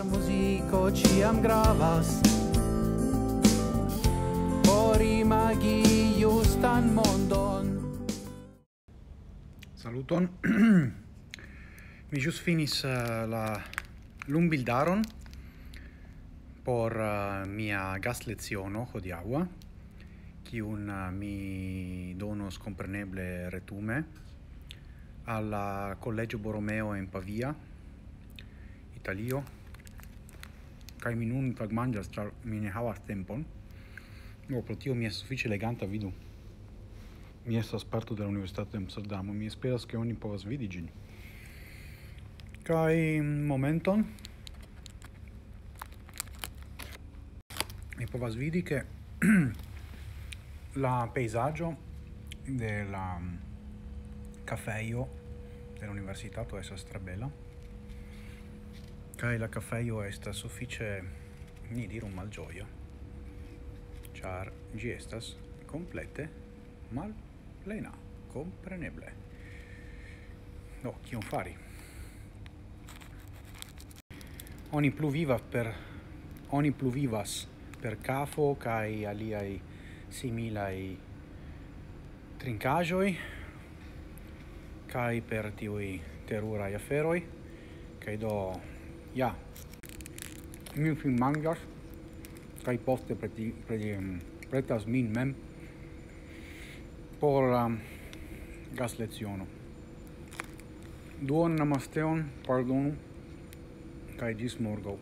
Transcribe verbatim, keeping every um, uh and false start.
Muziko ĉiam gravas por imagi justan mondon. Saluton. Mi ĵus finis eh, la lumbildaron por eh, mia gasleciono hodiaŭa, kiun eh, mi donos kompreneble retume al la Collegio Borromeo en Pavia, Italio. Kaj mi nun tagmanĝas, ĉar mi ne havas tempon. No, pro tio mi estas sufiĉe leganta, vidu. Mi estas parto de la Universitato de Amsterdamo. Mi esperas, ke oni povas vidi ĝin. Kaj momenton mi povas vidi, ke la pejzaĝo de la kafejo de la universitato estas tre bela. Kaj la kafejo estas sufiĉe, ni diru, malĝoja, ĉar ĝi estas komplete malplena, kompreneble. Do, kion fari? Oni plu vivas per, oni plu vivas per kafo kaj aliaj similaj trinkaĵoj, kaj per tiuj teruraj aferoj. Kaj do, ja, mi finmanĝas, kaj poste preti-, preti-, pretas min mem por la gasleciono. Duon namasteon, pardonu, kaj ĝis morgaŭ.